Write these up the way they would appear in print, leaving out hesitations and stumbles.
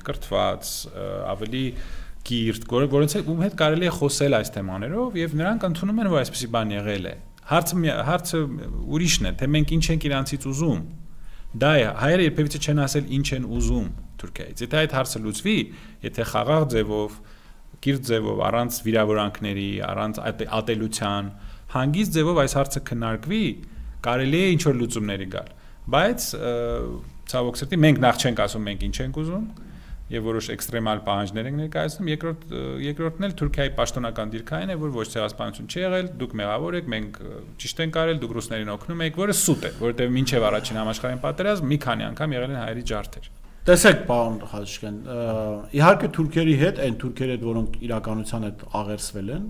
կրթված, ավելի կիրթ, որոնց հետ կարելի է խոսել այս թեմաներով եւ նրանք ընդունում են, որ այսպիսի բան եղել է։ Հարցը ուրիշն է, թե մենք ինչ ենք իրանցից ուզում։ Դա է, հայերը երբևիցե չեն ասել ինչ են ուզում Թուրքիայից։ Եթե այդ հարցը լուծվի, եթե խաղաղ ձևով, կիրթ ձևով, առանց վիրավորանքների, առանց ատելության, հանգիստ ձևով այս հարցը քննարկվի, կարելի է ինչ-որ լուծումների գալ։ Բայց ցավոք սրտի մենք նախ չենք ասում մենք ինչ ենք ուզում եւ որոշ էքստրեմալ պահանջներ ենք ներկայացնում, երկրորդն էլ Թուրքիայի պաշտոնական դիրքային է, որ ոչ ցեղասպանություն չի եղել, դուք մեղավոր եք, մենք ճիշտ ենք արել, դուք ռուսներին օգնում եք, որը սուտ է, որովհետեւ մինչեւ առաջին համաշխարհային պատերազմ մի քանի անգամ եղել են հայերի ջարդեր։ Տեսեք, պարոն Խաչիկյան, իհարկե թուրքերի հետ, այն թուրքերի հետ, որոնք իրականության հետ աղերսվել են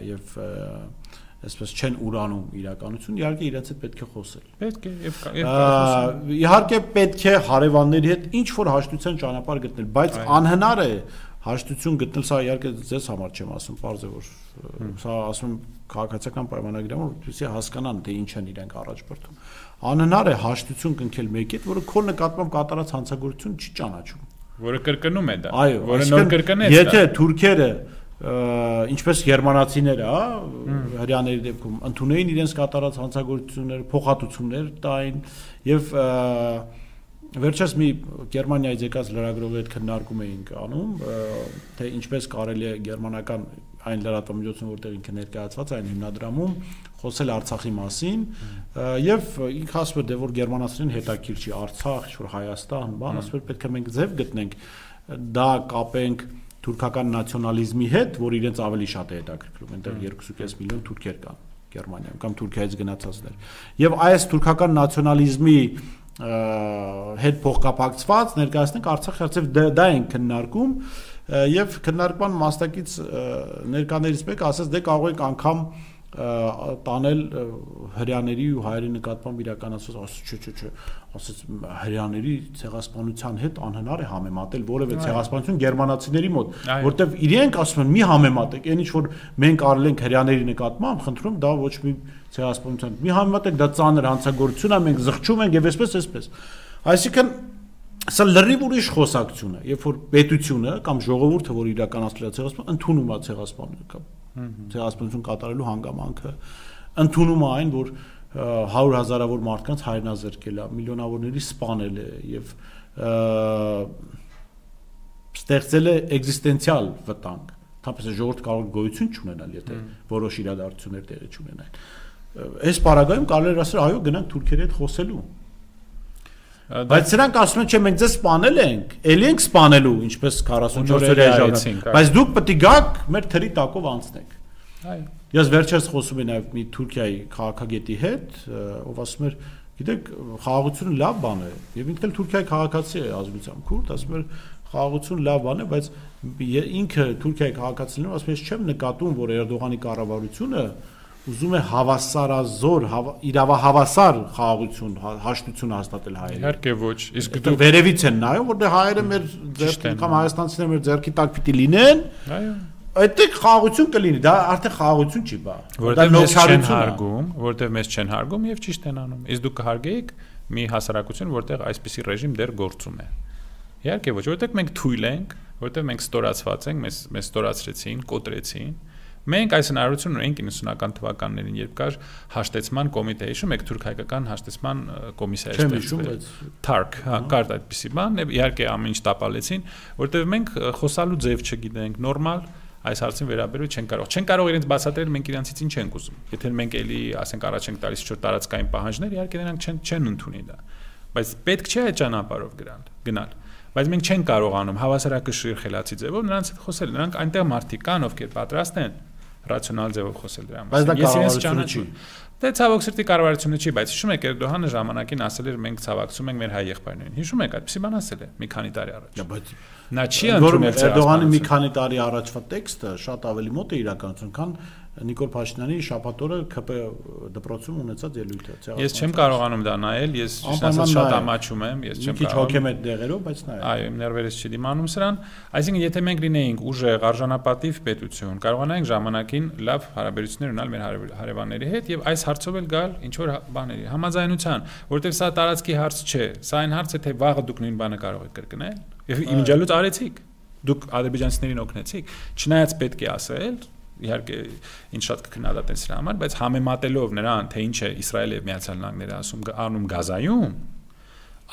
եւ այսպես չեն ուրանում իրականություն, իհարկե իրենց հետ պետք է խոսել։ Պետք է եւ իհարկե պետք է հարևանների հետ ինչ որ հաշտության ճանապարհ գտնել, բայց անհնար է հաշտություն գտնել, սա իհարկե ձեզ համար չեմ ասում, պարզ է որ սա ասում եմ քաղաքացիական պայմանագրերում, որպեսզի հասկանան թե ինչ են իրենք առաջ բերում։ Անհնար է հաշտություն կնքել մեկի հետ, որը քո նկատմամբ կատարած հանցագործություն չի ճանաչում, որը կրկնում է դա, որը նոր կրկնեց։ Եթե թուրքերը ինչպես գերմանացիները, հрьяաների դեպքում ընդունեին իրենց կատարած հանցագործությունները, փոխհատուցումներ տային եւ վերջերս մի Գերմանիայից եկած լրագրողի հետ քննարկում էինք անում, թե ինչպես կարելի է գերմանական այն լրատվամիջոցում, որտեղ ինքը ներկայացված է այն հիմնադրամում, խոսել Արցախի մասին եւ ինքը ասում է, դե որ գերմանացիներին հետաքրքիր չի Արցախ, ինչ որ Հայաստան, բան, ասում է պետք է մենք ձև գտնենք, դա կապենք թուրքական նացիոնալիզմի հետ, որ իրենց ավելի շատ է հետաքրքրում, այնտեղ 2.5 միլիոն թուրքեր կան Գերմանիայում կամ Թուրքիայից գնացածներ։ Եվ այս թուրքական նացիոնալիզմի հետ փոխկապակցված ներկայացնենք Արցախի հարցով դա են քննարկում եւ քննարկման մասնակից ներկաներից մեկը ասաց դե կարող եք անգամ տանել հрьяաների ու հայերի նկատմամբ իրականացված չէ ասաց հрьяաների ցեղասպանության հետ անհնար է համեմատել որևէ ցեղասպանություն գերմանացիների մոտ որտեվ իրենք ասում են մի համեմատեք այն ինչ որ մենք արել ենք հрьяաների նկատմամբ խնդրում դա ոչ մի ցեղասպանություն մի համեմատեք դա ծանր հանցագործություն է մենք զղջում ենք եւ այսպես այսինքն սա լրիվ ուրիշ խոսակցություն է երբ որ պետությունը կամ ժողովուրդը որ իրականացրել է ցեղասպանություն ընդունում է ցեղասպանությունը կամ ցեղասպանություն կատարելու հանգամանքը ընդունում է այն որ 100,000-ավոր մարդկանց հայրենազրկել է միլիոնավորների սպանել է եւ ստեղծել է էգզիստենցիալ վտանգ թափից ժողովուրդ կարող գոյություն չունենալ եթե որոշ իրադարձություններ տեղի չունենան այս պարագայում կարելի է ասել այո գնանք թուրքերի հետ խոսելու բայց սրանք ասում են չէ մենք ձեզ սպանել ենք ելի ենք սպանելու ինչպես 44 օրյա ժամանակ բայց դուք պետք է գաք մեր թրի տակով անցնեք այո ես վերջերս խոսում եմ նաև մի Թուրքիայի քաղաքագետի հետ ով ասում էր գիտեք խաղաղությունը լավ բան է եւ ինքն էլ Թուրքիայի քաղաքացի է ազգությամբ քուրդ ասում էր խաղաղություն լավ բան է բայց ինքը Թուրքիայի քաղաքացիներն ասում է չեմ նկատում որ Էրդողանի կառավարությունը ուզում է հավասարազոր իրավահավասար խաղաղություն հաշտություն հաստատել հայերին իհարկե ոչ իսկ դու վերևից են նայում որտեղ հայերը մեր ձեռքի կամ հայաստանցիները մեր ձեռքի տակ պիտի լինեն այո այդտեղ խաղաղություն կլինի դա արդեն խաղաղություն չի բա որտեղ մեզ չեն հարգում եւ ճիշտ են անում իսկ դուք կհարգեիք մի հասարակություն որտեղ այսպիսի ռեժիմ դեռ գործում է իհարկե ոչ որտեղ մենք թույլ ենք որտեղ մենք ստորացված ենք մեզ ստորացրեցին կոտրեցին Մենք այս հնարավորությունը ունենք 90-ական թվականներին, երբ կար հաշտեցման կոմիտե, հիշում եք թուրք-հայկական հաշտեցման կոմիսիա ստեղծվել։ TARC, կար այդպիսի բան, եւ իհարկե ամեն ինչ տապալեցին, որտեղ մենք խոսալու ձև չգիտենք, նորմալ այս հարցին վերաբերել չեն կարող իրենց բացատրել մենք իրենցից ինչ ենք ուզում։ Եթե մենք էլի, ասենք, առաջ ենք տալիս ինչ-որ տարածքային պահանջներ, իհարկե նրանք չեն ընդունի դա։ Բայց պետք չէ այդ ճանապարհով գնալ։ Բայց մենք չենք կարողանում հավասարակշռ խելացի ձևով նրանց հետ խոսել։ Նրանք այնտեղ մարդիկ կան, ովքեր պատրաստ են ռացիոնալ ձևով խոսել դրա մասին։ Բայց դա կառավարությունը չի։ Դե ցավոք սրտի կառավարությունը չի, բայց հիշում եք Էրդողանը ժամանակին ասել էր մենք ցավակցում ենք մեր հայ եղբայրներին։ Հիշում եք այդպեսի բան ասել է մի քանի տարի առաջ։ Բայց նա չի ընդունել Էրդողանի մի քանի տարի առաջվա տեքստը շատ ավելի մոտ է իրականություն, քան Նիկոլ Փաշինյանի շաբաթ օրը ԿՊ դպրոցում ունեցած ելույթը։ Ես չեմ կարողանում դա նայել, ես ասած շատ ամաչում եմ, ես չեմ կարողանում։ Քիչ հոգեմետ դեղերով, բայց նայել։ Այո, իմ ներվերից չի դիմանում սրան, այսինքն եթե մենք լինեինք ուժեղ արժանապատիվ պետություն, կարողանայինք ժամանակին լավ հարաբերություններ ունենալ մեր հարևանների հետ եւ այս հարցով էլ գալ ինչ որ բաների համաձայնության, որովհետեւ սա տարածքի հարց չէ, սա այն հարց է, թե վաղը դուք նույն բանը կարող եք կրկնել եւ իմիջիալուց արեցիք, դուք ադրբեջանցիներին օգնեցիք, չնայած պետք է ասել իհարկե ինչ շատ կքննադատեն սրա համար, բայց համեմատելով նրան, թե ինչ է Իսրայելը եւ Միացյալ Նահանգները անում Գազայում,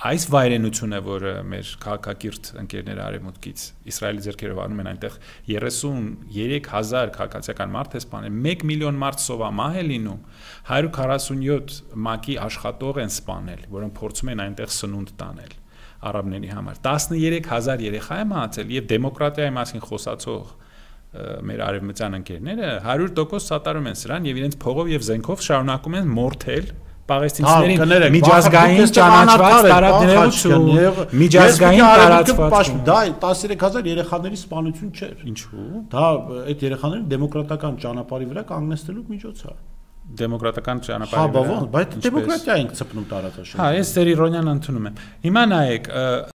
այս վայրենությունը, որը մեր քաղաքակիրթ ընկերները արևմուտքից Իսրայելի ձեռքերով անում են այնտեղ 33000 քաղաքացիական մարդ է սպանել, 1 միլիոն մարդ սովամահ է լինում, 147 ՄԱԿ-ի աշխատող են սպանել, որոնք փորձում են այնտեղ սնունդ տանել արաբների համար, 13000 երեխա է մահացել եւ դեմոկրատիայի մասին խոսացող մեր արևմտյան ընկերները 100% սատարում են սրան եւ իրենց փողով եւ զենքով շարունակում են մորթել պաղեստինցիներին միջազգային ճանաչված տարածքներում միջազգային տարածված դա 13000 երեխաների սպանություն չէր ինչու դա այդ երեխաներին դեմոկրատական ճանապարհի վրա կանգնեցնելու միջոց է դեմոկրատական ճանապարհի վրա բայց դեմոկրատիա ենք ցպնում տարածաշրջանում ես ձեր իրոնիան ընդունում եմ հիմա նայեք